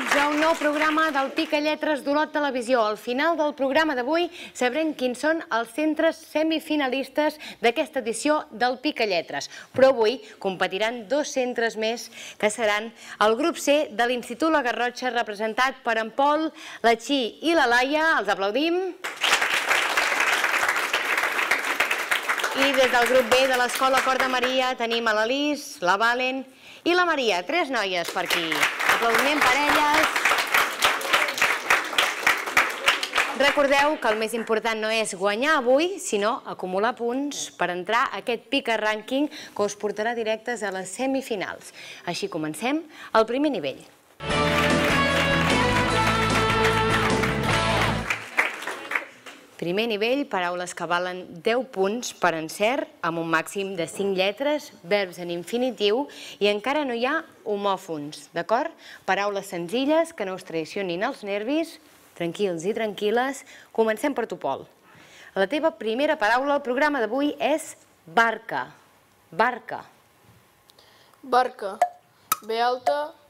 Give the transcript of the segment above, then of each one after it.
benvinguts a un nou programa del Picalletres d'Olot Televisió. Al final del programa d'avui sabrem quins són els centres semifinalistes d'aquesta edició del Picalletres. Però avui competiran dos centres més que seran el grup C de l'Institut La Garrotxa, representat per en Pol, la Txi i la Laia. Els aplaudim. I des del grup B de l'Escola Cor de Maria tenim a la Lis, la Valen i la Maria. Tres noies per aquí. Aplaudiment per elles. Recordeu que el més important no és guanyar avui, sinó acumular punts per entrar a aquest Pica Rànquing que us portarà directes a les semifinals. Així comencem el primer nivell. Primer nivell, paraules que valen 10 punts per encert, amb un màxim de 5 lletres, verbs en infinitiu i encara no hi ha homòfons, d'acord? Paraules senzilles que no us traicionin els nervis, tranquils i tranquil·les. Comencem per tu, Pol. La teva primera paraula al programa d'avui és barca. Barca. Barca. B-A-R-C-A.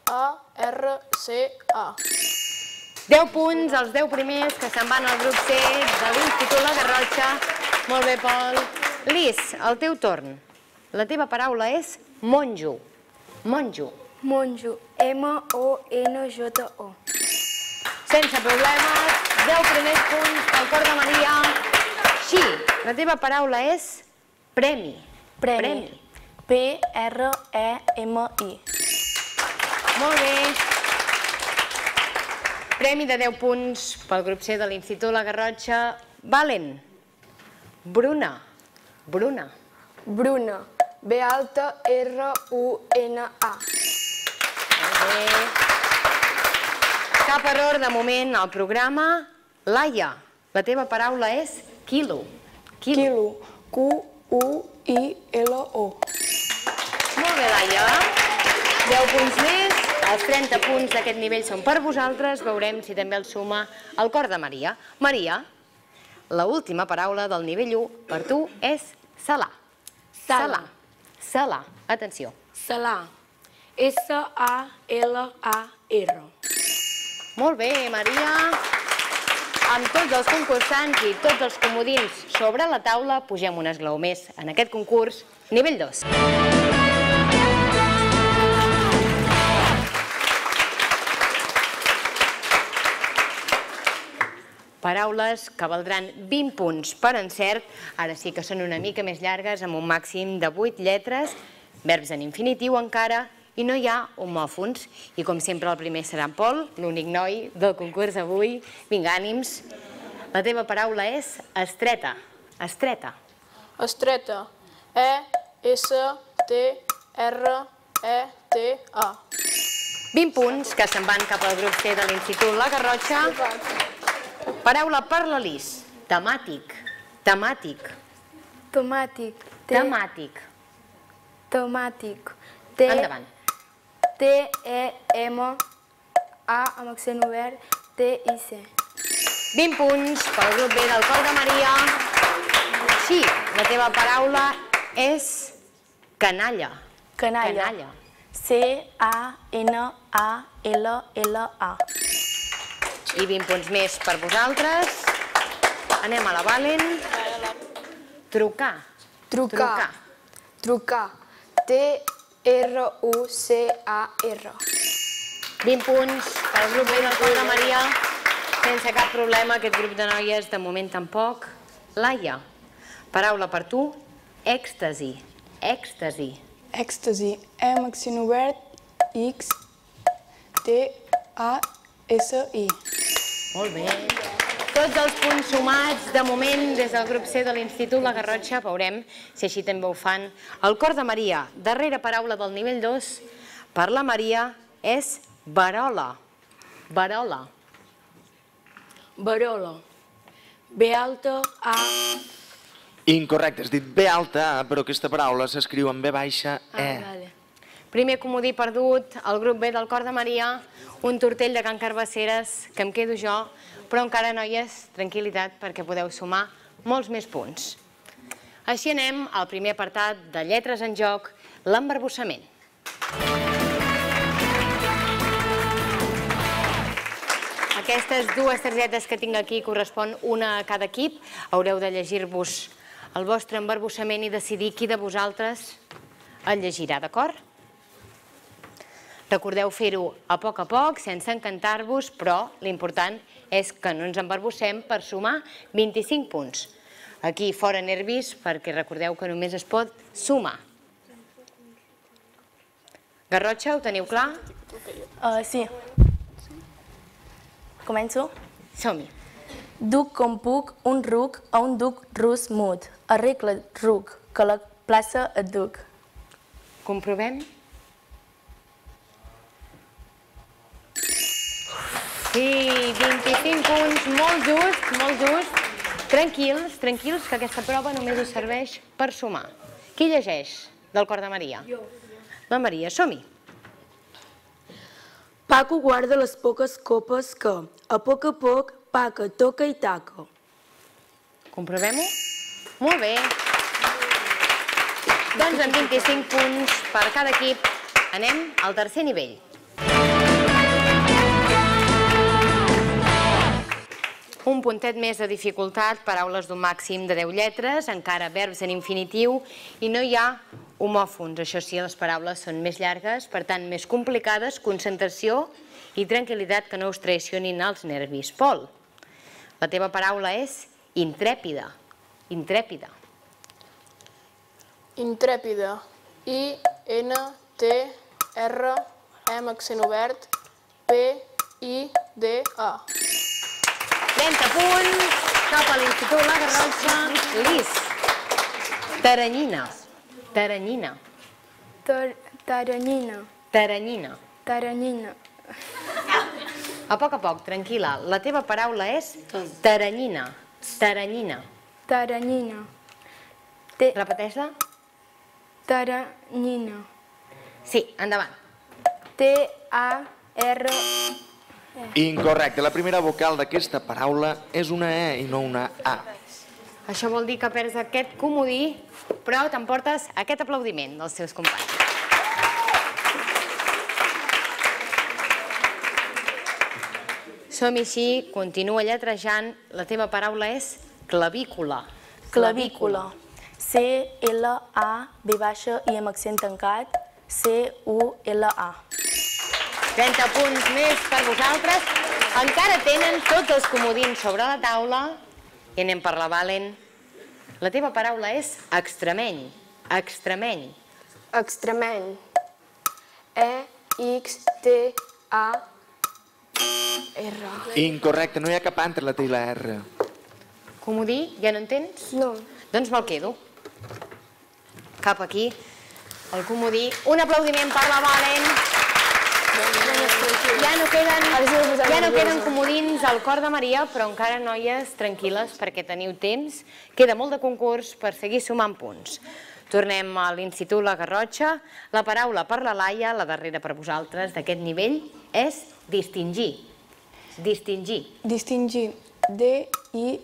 10 punts, els 10 primers que se'n van al grup C de l'Institut La Garrotxa. Molt bé, Pol. Lis, el teu torn. La teva paraula és monjo. Monjo. Monjo. M-O-N-J-O. Sense problemes, 10 primers punts pel Cor de Maria. Xi, la teva paraula és premi. Premi. P-R-E-M-I. Molt bé. Premi de 10 punts pel grup C de l'Institut La Garrotxa. Valen. Bruna. Bruna. Bruna. B-A-R-U-N-A. Molt bé. Cap error de moment al programa. Laia, la teva paraula és quilo. Quilo. Q-U-I-L-O. Molt bé, Laia. 10 punts més. Els 30 punts d'aquest nivell són per vosaltres. Veurem si també els suma el Cor de Maria. Maria, l'última paraula del nivell 1 per tu és salar. Salar. Salar. Atenció. Salar. S-A-L-A-R. Molt bé, Maria. Amb tots els concursants i tots els comodins sobre la taula, pugem un esglaó més en aquest concurs. Nivell 2. Paraules que valdran 20 punts per encert. Ara sí que són una mica més llargues, amb un màxim de 8 lletres, verbs en infinitiu encara, i no hi ha homòfons. I com sempre el primer serà en Pol, l'únic noi del concurs avui. Vinga, ànims. La teva paraula és estreta. Estreta. Estreta. E-S-T-R-E-T-A. 20 punts que se'n van cap al grup C de l'Institut La Garrotxa. Paraula per la Lis. Temàtic. Temàtic. Tomàtic. Temàtic. Tomàtic. Endavant. T-E-M-A amb accent obert. T-I-C. 20 punts pel grup B del Cor de Maria. Sí, la teva paraula és canalla. Canalla. Canalla. C-A-N-A-L-L-A. I 20 punts més per vosaltres. Anem a la Valen. Trucar. Trucar. Trucar. T-R-U-C-A-R. 20 punts pel grup B del Cor de Maria. Sense cap problema, aquest grup de noies de moment tampoc. Laia, paraula per tu, èxtasi. Èxtasi. Èxtasi. M accent obert. X-T-A-S-I. Molt bé. Tots els punts sumats, de moment, des del grup C de l'Institut La Garrotxa. Veurem si així també ho fan. El Cor de Maria, darrera paraula del nivell 2, per la Maria, és verola. Verola. Verola. B-alta-A. Incorrecte, has dit B alta, però aquesta paraula s'escriu amb B baixa, E. Vale. Primer comodí perdut, el grup B del Cor de Maria, un tortell de Can Carbasseres, que em quedo jo, però encara, noies, tranquil·litat, perquè podeu sumar molts més punts. Així anem al primer apartat de lletres en joc, l'embarbussament. aquestes dues targetes que tinc aquí correspon una a cada equip. Haureu de llegir-vos el vostre embarbussament i decidir qui de vosaltres el llegirà, d'acord? Recordeu fer-ho a poc, sense encantar-vos, però l'important és que no ens embarbussem per sumar 25 punts. Aquí fora nervis, perquè recordeu que només es pot sumar. Garrotxa, ho teniu clar? Sí. Començo? Som-hi. Duc com puc un ruc a un duc rus mut. Arregla ruc, que la plaça et duc. Comprovem? Sí, 25 punts, molt just, molt just. Tranquils, tranquils, que aquesta prova només us serveix per sumar. Qui llegeix del Cor de Maria? Jo. La Maria, som-hi. Paco guarda les poques copes que, a poc, paca, toca i taca. Comprovem-ho? Molt bé. Doncs amb 25 punts per cada equip anem al tercer nivell. Un puntet més de dificultat, paraules d'un màxim de 10 lletres, encara verbs en infinitiu i no hi ha homòfons. Això sí, les paraules són més llargues, per tant més complicades, concentració i tranquil·litat, que no us traicionin els nervis. Pol, la teva paraula és intrèpida. Intrèpida. Intrèpida. I-N-T-R, amb accent obert, P-I-D-A. 30 punts, cap a l'Institut La Garrotxa. Lis, taranyina. Taranyina. Taranyina. Taranyina. Taranyina. A poc, tranquil·la. La teva paraula és taranyina. Taranyina. Taranyina. Repeteix-la. Taranyina. Sí, endavant. T-A-R... Incorrecte. La primera vocal d'aquesta paraula és una E i no una A. Això vol dir que perds aquest comodí, però t'emportes aquest aplaudiment dels teus companys. Som-hi així, continua lletrejant. La teva paraula és clavícula. Clavícula. C-L-A, B baixa i amb accent tancat, C-U-L-A. 30 punts més per vosaltres. Encara tenen tots els comodins sobre la taula. I anem per la Valen. La teva paraula és extremeny. Extremeny. Extremeny. E-X-T-A-R. Incorrecte, no hi ha cap A entre la T i la R. Comodí, ja no en tens? No. Doncs me'l quedo. Cap aquí, el comodí. Un aplaudiment per la Valen. Ja no queden comodins al Cor de Maria, però encara, noies, tranquil·les, perquè teniu temps. Queda molt de concurs per seguir sumant punts. Tornem a l'Institut La Garrotxa. La paraula per la Laia, la darrera per vosaltres d'aquest nivell, és distingir. Distingir. Distingir. D-I-S-T-I-N-G-I-R.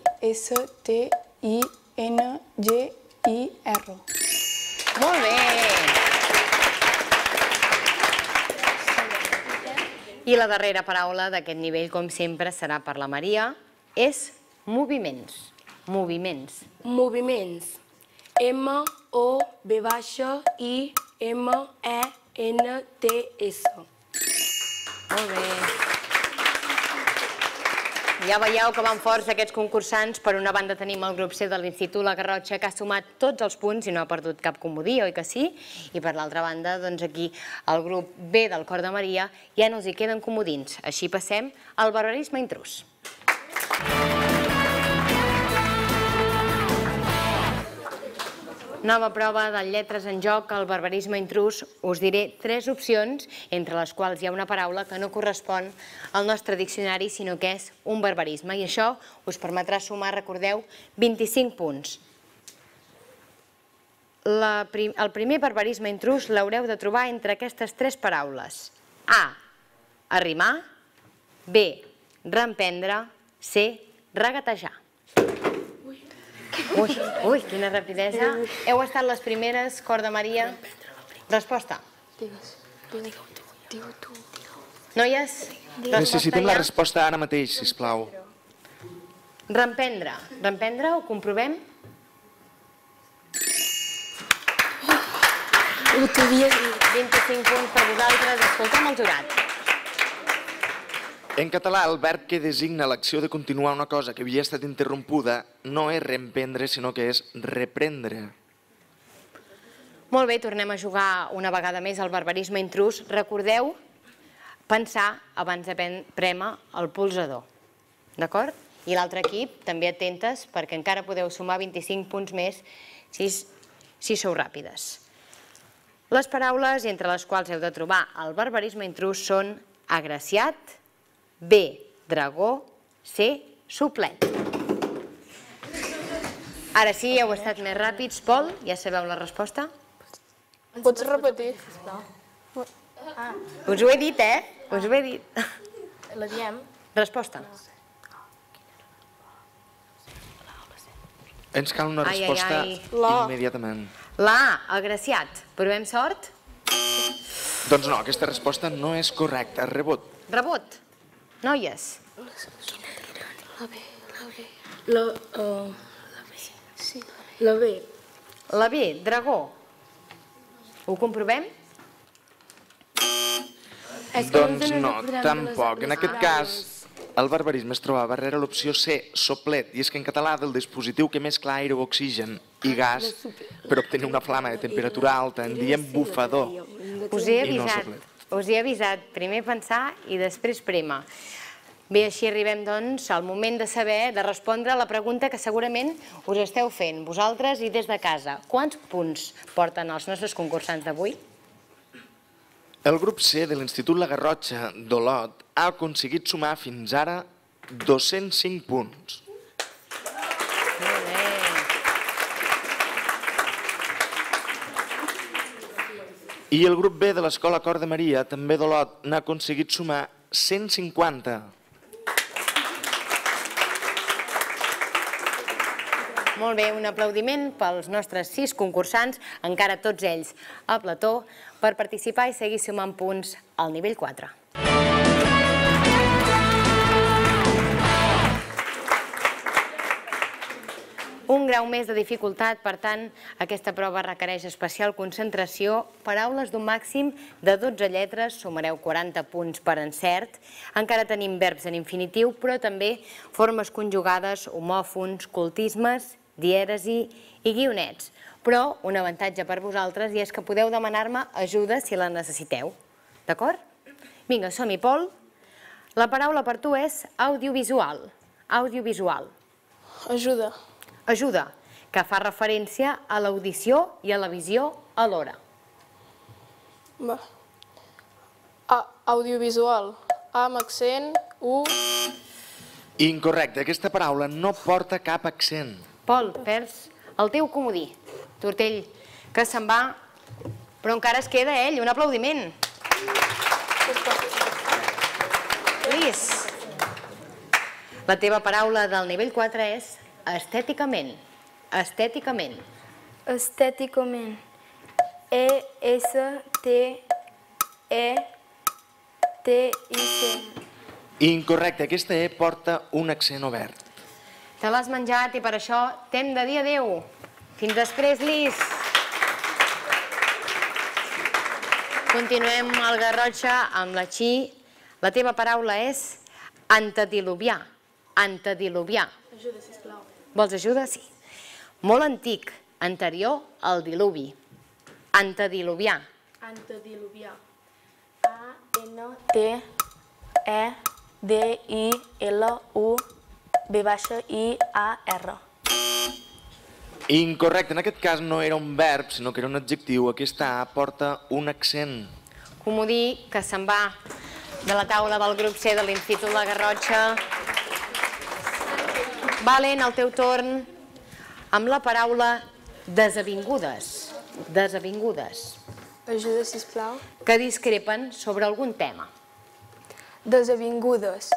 Molt bé! I la darrera paraula d'aquest nivell, com sempre, serà per la Maria, és moviments. Moviments. Moviments. M-O-B baixa i M-E-N-T-S. Molt bé. Ja veieu que van forts aquests concursants. Per una banda tenim el grup C de l'Institut La Garrotxa, que ha sumat tots els punts i no ha perdut cap comodí, oi que sí? I per l'altra banda, doncs aquí, el grup B del Cor de Maria ja no els hi queden comodins. Així passem al barbarisme intrús. Nova prova de lletres en joc, el barbarisme intrús. Us diré 3 opcions, entre les quals hi ha una paraula que no correspon al nostre diccionari, sinó que és un barbarisme. I això us permetrà sumar, recordeu, 25 punts. El primer barbarisme intrús l'haureu de trobar entre aquestes 3 paraules. A, arrimar. B, reemprendre. C, regatejar. Ui, quina rapidesa. Heu estat les primeres, Cor de Maria. Resposta. Digues. Digue-ho tu. Noies, Necessitem la resposta ara mateix, sisplau. Reemprendre. Reemprendre, ho comprovem? Ho t'havia dit. 25 punts per vosaltres. Escolta'm el jurat. En català, el verb que designa l'acció de continuar una cosa que havia estat interrompuda no és reemprendre, sinó que és reprendre. Molt bé, tornem a jugar una vegada més al barbarisme intrús. Recordeu pensar abans de prémer el polsador. D'acord? I l'altre equip, també atentes, perquè encara podeu sumar 25 punts més si sou ràpides. Les paraules entre les quals heu de trobar el barbarisme intrús són agraciat, B, dragó, C, suplet. Ara sí, heu estat més ràpids. Pol, ja sabeu la resposta? Pots repetir? Us ho he dit, Us ho he dit. La diem? Resposta. Ens cal una resposta immediatament. La, agraciat. Provem sort? Doncs no, aquesta resposta no és correcta. Rebot. Rebot. Noies. La B. La B, dragó. Ho comprovem? Doncs no, tampoc. En aquest cas, el barbarisme es trobava darrere l'opció C, soplet, i és que en català del dispositiu que mescla aire o oxigen i gas per obtenir una flama de temperatura alta en diem bufador. Us he avisat. Primer pensar i després prémer. Bé, així arribem, doncs, al moment de saber, de respondre a la pregunta que segurament us esteu fent, vosaltres i des de casa. Quants punts porten els nostres concursants d'avui? El grup C de l'Institut La Garrotxa d'Olot ha aconseguit sumar fins ara 205 punts. Molt bé. I el grup B de l'Escola Cor de Maria, també d'Olot, n'ha aconseguit sumar 150. Molt bé, un aplaudiment pels nostres 6 concursants, encara tots ells a plató, per participar i seguir sumant punts al nivell 4. Un grau més de dificultat, per tant, aquesta prova requereix especial concentració. Paraules d'un màxim de 12 lletres, sumareu 40 punts per encert. Encara tenim verbs en infinitiu, però també formes conjugades, homòfons, cultismes, dièresi i guionets. Però un avantatge per vosaltres i és que podeu demanar-me ajuda si la necessiteu. D'acord? Vinga, som-hi, Pol. La paraula per tu és audiovisual. Audiovisual. Ajuda. Ajuda, que fa referència a l'audició i a la visió alhora. Audiovisual. A amb accent, U. Incorrecte, aquesta paraula no porta cap accent. Pol, perds el teu comodí. Tortell, que se'n va, però encara es queda ell. Un aplaudiment. Llis, la teva paraula del nivell 4 és estèticament. Estèticament. Estèticament. E-S-T-E-T-I-C. Incorrecte, aquesta E porta un accent obert. Te l'has menjat i per això t'hem de dir adéu. Fins després, Llis. Continuem al Garrotxa amb la Xi. La teva paraula és antediluvià. Antediluvià. Ajuda, sisplau. Vols ajuda? Sí. Molt antic, anterior al diluvi. Antediluvià. Antediluvià. A-N-T-E-D-I-L-U-V-I-A-R. Incorrecte, en aquest cas no era un verb, sinó que era un adjectiu. Aquesta A porta un accent. Comodí que se'n va de la taula del grup C de l'Institut La Garrotxa. Valen, el teu torn amb la paraula desavingudes. Desavingudes. Ajuda, sisplau. Que discrepen sobre algun tema. Desavingudes.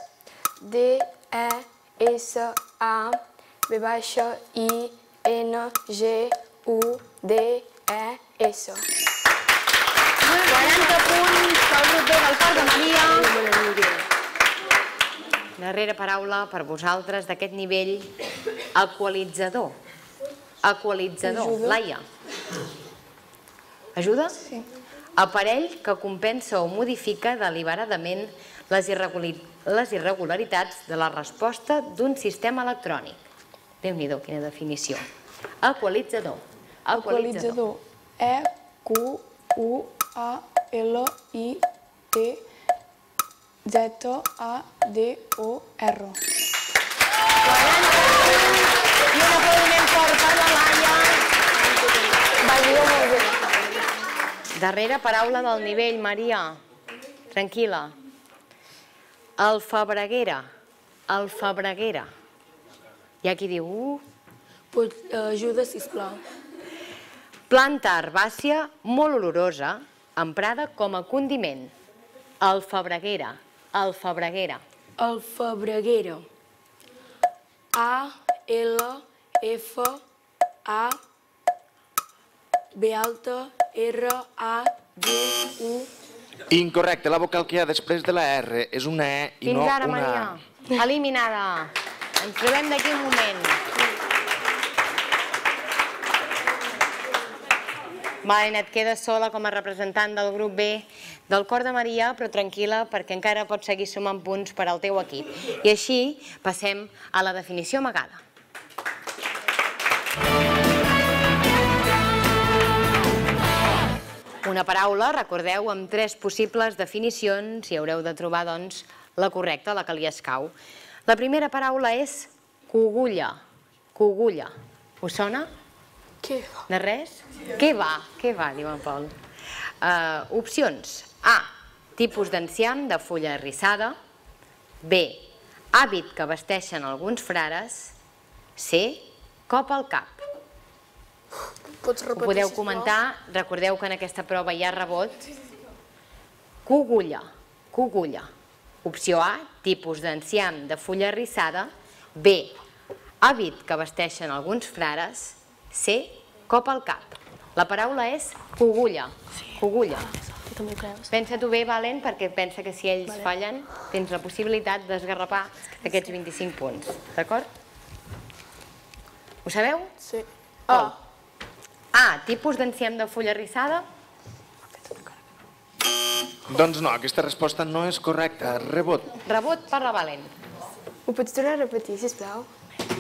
D-E-S-A-V-I-N-G-U-D-E-S. Molt bé. 40 punts pel grup B del Cor de Maria. Darrera paraula per vosaltres d'aquest nivell, equalitzador. Equalitzador. Laia. Ajuda? Sí. Aparell que compensa o modifica deliberadament les irregularitats de la resposta d'un sistema electrònic. Déu-n'hi-do, quina definició. Equalitzador. Equalitzador. E-Q-U-A-L-I-T-Z-A-D-O-R. I un aplaudiment fort per la Laia. Va dir molt bé. Darrera paraula del nivell, Maria. Tranquil·la. Alfabreguera. Alfabreguera. Hi ha qui diu... Ajuda, sisplau. Planta herbàcia molt olorosa, emprada com a condiment. Alfabreguera. Alfabreguera. Alfabreguera. A-L-F-A-B-R-A-G-U. Incorrecte, la vocal que hi ha després de la R és una E i no Fins ara, una Maria. A. Eliminada. Ens trobem d'aquí un moment. Valen, et quedes sola com a representant del grup B del Cor de Maria, però tranquil·la perquè encara pots seguir sumant punts per al teu equip. I així passem a la definició amagada. Una paraula, recordeu, amb 3 possibles definicions i haureu de trobar, doncs, la correcta, la que li escau. La primera paraula és cogulla. Cogulla. Us sona? Què? De res? Què va, diu en Pol. Opcions. A. Tipus d'enciam de fulla arrissada. B. Hàbit que vesteixen alguns frares. C. Cop al cap. Pots Ho repetir, podeu sisplau? comentar. Recordeu que en aquesta prova hi ha rebot. Cogulla. Cogulla. Opció A. Tipus d'enciam de fulla arrissada. B. Hàbit que vesteixen alguns frares. C. Cop al cap. La paraula és cogulla. Cogulla. Tu també ho creus? Pensa-t'ho bé, Valen, perquè pensa que si ells fallen tens la possibilitat d'esgarrapar aquests 25 punts. D'acord? Ho sabeu? Sí. Pol. A. Tipus d'enciam de fulla arrissada. Doncs no, aquesta resposta no és correcta. Rebot. Rebot per la Valen. Ho pots tornar a repetir, sisplau?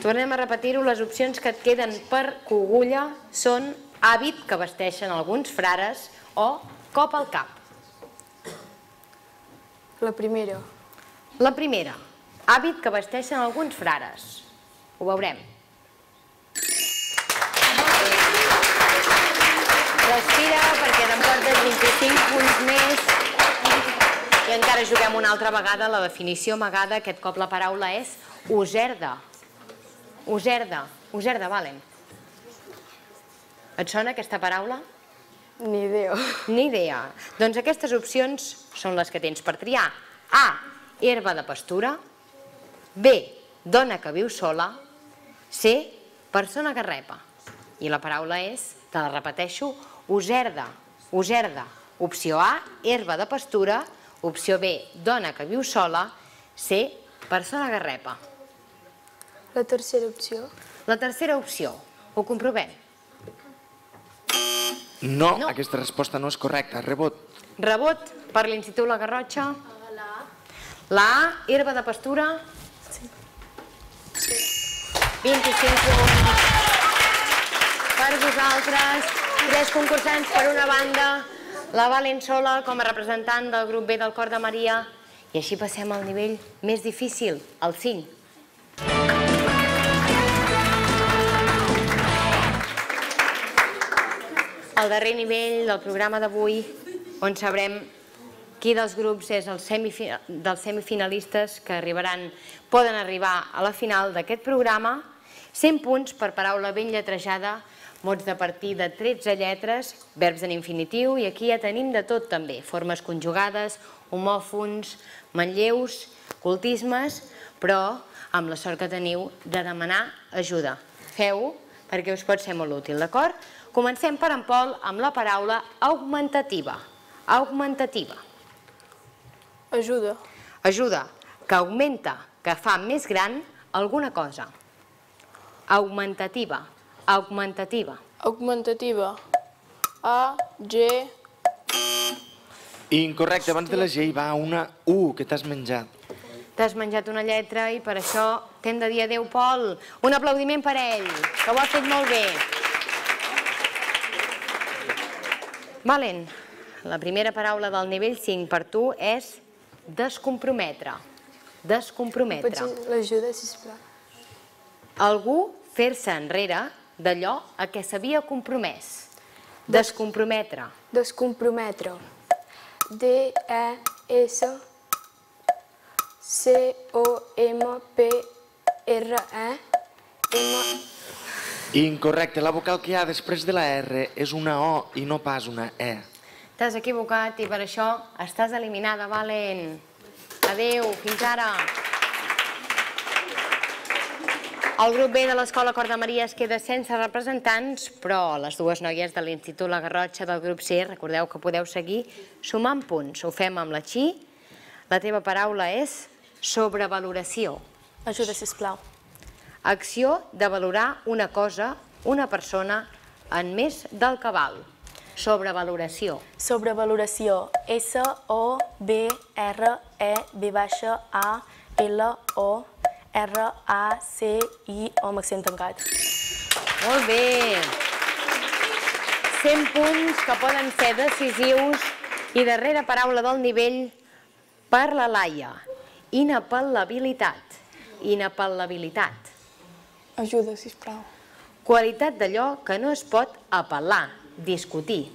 Tornem a repetir-ho. Les opcions que et queden per cogulla són hàbit que vesteixen alguns frares o cop al cap. La primera. La primera. Hàbit que vesteixen alguns frares. Ho veurem. Respira perquè t'emportes 25 punts més i encara juguem una altra vegada la definició amagada. Aquest cop la paraula és userda. Userda. Userda, Valen. Et sona aquesta paraula? Ni idea. Ni idea. Doncs aquestes opcions són les que tens per triar. A. Herba de pastura. B. Dona que viu sola. C. Persona que repa. I la paraula és, te la repeteixo, userda. Userda. Opció A. Herba de pastura. Opció B. Dona que viu sola. C. Persona que repa. La tercera opció. La tercera opció. Ho comprovem. No, aquesta resposta no és correcta. Rebot. Rebot per l'Institut La Garrotxa. La A, herba de pastura. Sí. 25 punts per vosaltres. 3 concursants per una banda. La Valen sola com a representant del grup B del Cor de Maria. I així passem al nivell més difícil, el 5. El darrer nivell del programa d'avui, on sabrem qui dels grups és dels semifinalistes que poden arribar a la final d'aquest programa. 100 punts per paraula ben lletrejada, mots de partir de 13 lletres, verbs en infinitiu, i aquí ja tenim de tot també, formes conjugades, homòfons, manlleus, cultismes, però amb la sort que teniu de demanar ajuda. Feu-ho perquè us pot ser molt útil, d'acord? Comencem per en Pol amb la paraula augmentativa. Augmentativa. Ajuda. Ajuda, que augmenta, que fa més gran alguna cosa. Augmentativa. Augmentativa. Augmentativa. A, G... Incorrecte, abans de la G hi va una U, que t'has menjat. T'has menjat una lletra i per això t'hem de dir adéu, Pol. Un aplaudiment per ell, que ho ha fet molt bé. Valen, la primera paraula del nivell 5 per tu és descomprometre. Descomprometre. Pots l'ajuda, sisplau? Algú fer-se enrere d'allò a què s'havia compromès. Descomprometre. Descomprometre. D-E-S-C-O-M-P-R-E-M... Incorrecte, la vocal que hi ha després de la R és una O i no pas una E. T'has equivocat i per això estàs eliminada, Valen. Adéu, fins ara. El grup B de l'Escola Cor de Maria es queda sense representants, però les dues noies de l'Institut La Garrotxa del grup C, recordeu que podeu seguir sumant punts. Ho fem amb la Xi. La teva paraula és sobrevaloració. Ajuda, sisplau. Acció de valorar una cosa, una persona, en més del que val. Sobrevaloració. Sobrevaloració. S-O-B-R-E-B-A-L-O-R-A-C-I-O amb accent tancat. Molt bé. 100 punts que poden ser decisius. I darrera paraula del nivell per la Laia. Inapel·labilitat. Inapel·labilitat. Ajuda, sisplau. Qualitat d'allò que no es pot apel·lar, discutir.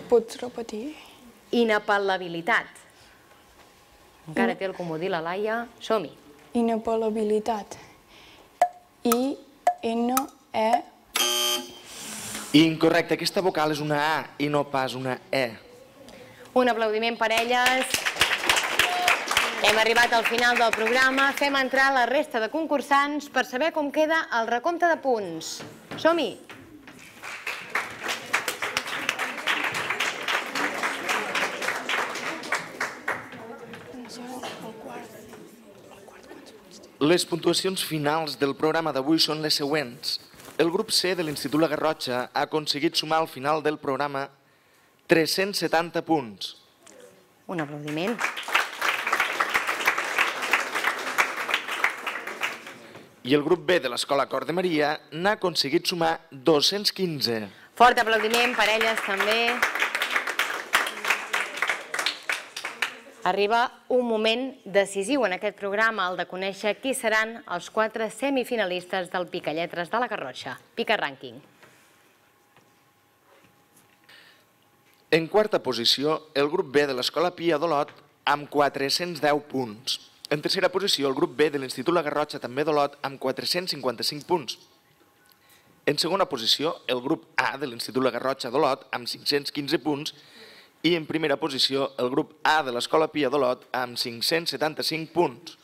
Pots repetir? Inapel·labilitat. Encara té el comodí la Laia. Som-hi. Inapel·labilitat. I-N-E... Incorrecte, aquesta vocal és una A i no pas una E. Un aplaudiment per elles. Hem arribat al final del programa. Fem entrar la resta de concursants per saber com queda el recompte de punts. Som-hi! Les puntuacions finals del programa d'avui són les següents. El grup C de l'Institut La Garrotxa ha aconseguit sumar al final del programa 370 punts. Un aplaudiment. I el grup B de l'Escola Cor de Maria n'ha aconseguit sumar 215. Fort aplaudiment per elles també. Arriba un moment decisiu en aquest programa, el de conèixer qui seran els 4 semifinalistes del Picalletres de la Garrotxa. Pica Rànquing. En quarta posició, el grup B de l'Escola Pia d'Olot amb 410 punts. En tercera posició, el grup B de l'Institut La Garrotxa, també d'Olot, amb 455 punts. En segona posició, el grup A de l'Institut La Garrotxa d'Olot, amb 515 punts. I en primera posició, el grup A de l'Escola Pia d'Olot, amb 575 punts.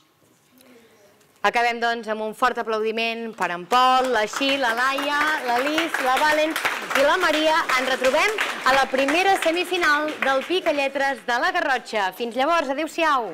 Acabem, doncs, amb un fort aplaudiment per en Pol, la Xi, la Laia, la Lis, la Valen i la Maria. Ens retrobem a la primera semifinal del Picalletres de la Garrotxa. Fins llavors, adéu-siau!